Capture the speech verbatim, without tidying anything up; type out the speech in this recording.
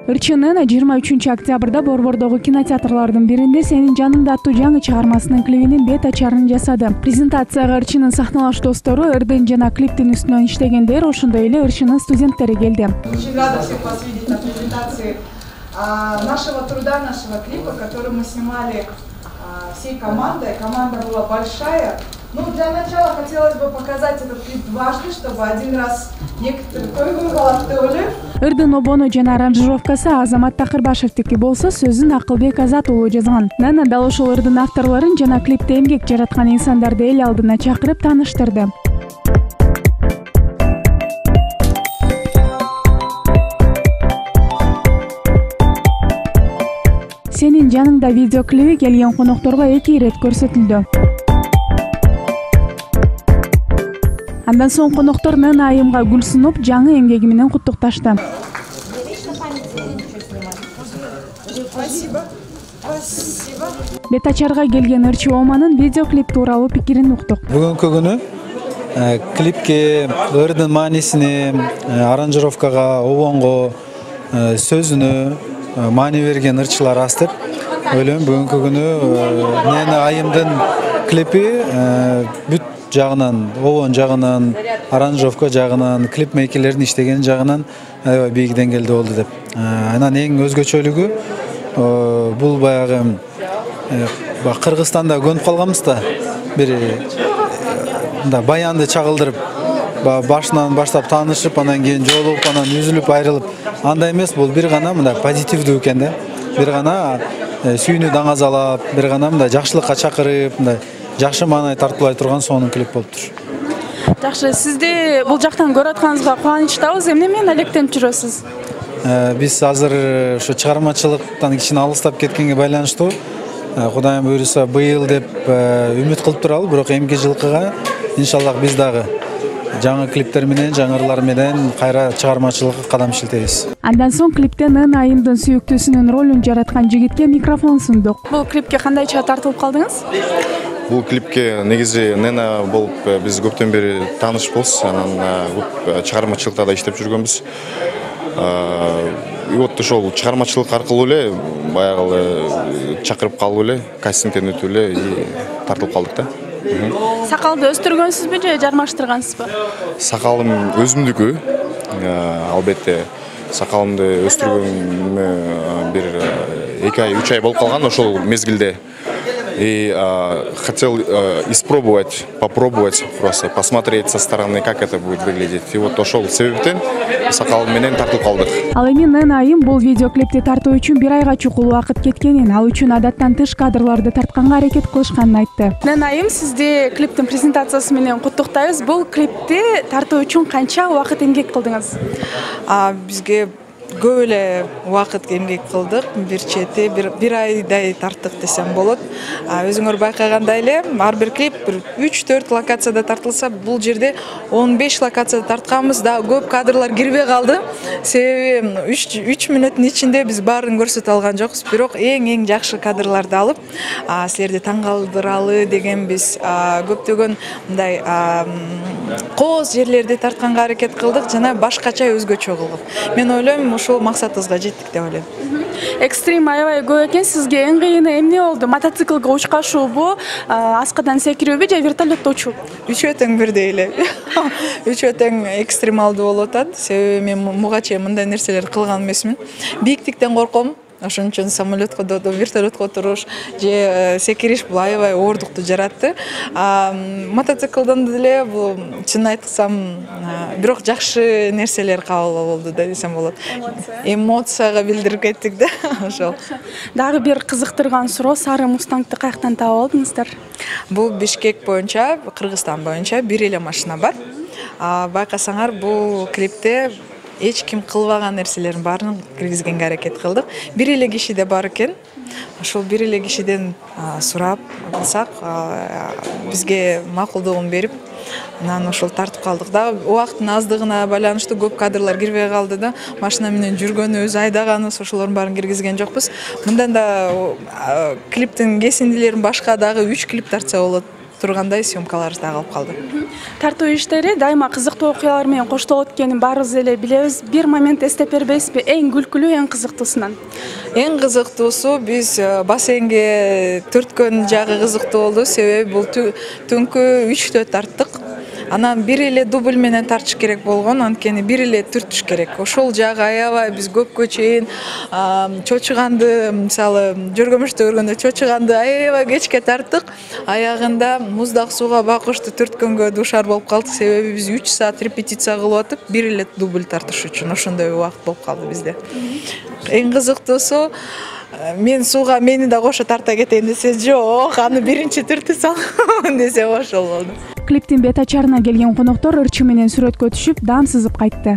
Ырчынын жыйырма үчүнчү октябрда Борбордогу кинотеатрлардын биринде «Сенин жаныңда» аттуу жаңы чыгармасынын клибинин бет ачарын жасады. Презентацияга Ырчынын сахналаш достору, Эрден жана клиптин үстүнөн иштегендер, ошондой эле Ырчынын студенттери келди. Очень рада всех вас видеть на презентации нашего труда, нашего клипа, который мы снимали всей командой. Команда была большая. Ну, для начала хотелось бы показать этот клип дважды, чтобы один раз некоторые койгон калат деп ойлойм. Ырдын обону жана аранжировкасы Азамат Такырбашевдики болсо, сөзүн Акылбек Азат уулу жазган. Нана дал ошол ырдын авторлорун жана клипте эмгек жараткан инсандарды эл алдына чакырып тааныштырды. Сенин жаныңда видеоклиби келген конокторго эки ирет көрсөтүлдү. Андан соң коноктор Нана айымга гүл сунуп, жаңы эмгеги менен куттукташты. Спасибо. Спасибо. Бет ачарга келген Ырчы Оманын видеоклип тууралуу пикирин уктук. Бүгүнкү күнү клипке, ырдын маанисине, аранжировкага, обонго, сөзүнө маани берген ырчылар аз деп ойлойм. Бүгүнкү күнү Нана айымдын клипи бүт жагынан, обон жагынан, аранжировка жагынан, клип мейкерлердин иштеген жагынан аябай бийик деңгээлде болду деп. Анан эң өзгөчөлүгү бул баягы Кыргызстанда көнүп калганбыз да, бир мындай баянды чагылдырып, башынан баштап таанышып, анан кийин жолугуп, анан үзүлүп айрылып, андай эмес, бул бир гана мындай позитивдүү экен да. Бир гана сүйүүнү даңазалап, бир гана мындай жакшылыкка чакырып, мындай жакшы маанай тартуулай турган сонун клип болуптур. Жакшы, сизди бул жактан көрүп атканыңызга кубанычтабыз. Эмне менен алектенип жүрөсүз? Биз азыр ушу чыгармачылыктан кичине алыстап кеткенге байланыштуу Кудайым буйруса быйыл деп үмүт кылып туралы, бирок эмки жылкыга иншаллах биз дагы жаңы клиптер менен, жаңы ырлар менен кайра чыгармачылыкка кадам шилтейбиз. Андан соң клипте Нана айымдын сүйүктүүсүнүн ролун жараткан жигитке микрофон сундук. Бул клипке кандайча тартылып калдыңыз? Бул клипке негизи Нана болуп биз көптөн бери таанышпыз, анан көп чыгармачылыкта да иштеп жүргөнбүз. И вот ошол чыгармачылык аркылуу эле баягы чакырып калып эле, кастингден өтүп эле и тартылып калдык да. Сакалды өстүргөнсүзбү же жармаштыргансызбы? Сакалым өзүмдүкү. Албетте сакалымды өстүргөнүмө бир эки ай, үч ай болуп калган ошол мезгилде. И а, хотел а, испробовать, попробовать просто, посмотреть со стороны, как это будет выглядеть. И вот ошол себептен сакал менен тартылып калдык. Ал эми Нана айым бул видеоклипти тартуу үчүн бир айга чукул убакыт кеткенин, ал үчүн адаттан тыш кадрларды тартканга аракет кылышканын айтты. Нана айым, сизди клиптин презентациясы менен куттуктайбыз. Бул клипти тартуу үчүн канча убакыт эмгек кылдыңыз? А бизге көп эле убакыт эмгек кылдык, бир чети бир айдай тарттык десем болот. Өзүңөр байкагандай эле, ар бир клип үч төрт локацияда тартылса, бул жерде он беш локацияда тартканбыз, да көп кадрлар кирбей калды. Себеби үч мүнөттүн ичинде биз баарын көрсөтө алган жокпуз, бирок эң-эң жакшы кадрларды алып, силерди таң калтыралы дегенбиз. Көптөгөн мындай кооз жерлерди тартканга аракет кылдык жана башкача өзгөчө кылдык. Мен ойлойм, ошол максатыбызга жеттик деп ойлойм. Экстрим аябай көп экен. Сизге эң кыйыны эмне болду? Мотоциклге учкашуубу, аскадан секирүүбү же вертолетто учуу? Үчөө тең бирдей эле. Үчөө тең экстремалдуу болуп атат. Себеби мен муга чейин мындай нерселерди кылган эмесмин. Бийиктиктен корком. Ошон үчүн самолетко, вертолетко туруш же секириш бул аябай оордукту жаратты. Мотоциклдан деле бул чын айтсам, бирок жакшы нерселер кабыл болду да десем болот. Эмоцияга билдирип кеттик да ошол. Дагы бир кызыктырган суроо, сары мустангды каяктан таап алдыңыздар? Бул Бишкек боюнча, Кыргызстан боюнча бир эле машина бар. Байкасаңар, бул клипте эч ким кылбаган нерселердин баарын киргизгенге аракет кылдык. Бир эле кишиде бар экен. Ошол бир эле кишиден сурап алсак, бизге макулдугун берип, анан ошол тартып калдык да. Убакыттын аздыгына байланыштуу көп кадрлар кирбей калды да. Машина менен жүргөнүбүз, айдаганыбыз, ошолордун баарын киргизген жокпуз. Мындан да клиптин кесиндилерин башка дагы үч клип тартса болот. тургандай съемкаларыбыз дагы калып калды. Тартуу иштери дайыма кызыктуу окуялар менен коштолот экенин баарыбыз эле билебиз. Бир момент эстеп бербейсизби? Эң күлкүлүү, эң кызыктуусунан? Эң кызыктуусу биз бассейнге төрткөн жагы кызыктуу болду, себеби бул түнкү үчтө тарттык. Анан бир эле дубль менен тартыш керек болгон, анткени бир эле түртүш керек. Ошол жагы аябай биз көпкө чейин чочуганды, мисалы, жөргөмүштө көргөндө чочуганды аябай кечке тарттык. Аягында муздак сууга бакышты түрткөнгө дуушар болуп калдык, себеби биз үч саат репетиция кылып атып, бир эле дубль тартыш үчүн ошондой убакыт болуп калды бизде. Эң кызыктуусу, мен сууга мени да кошо тарта кетейин десе, жок, аны биринчи түртүп салам десе ошол болду. Клиптин бет ачарына келген коноктор ырчы менен сүрөткө түшүп, даам сызып кайтты.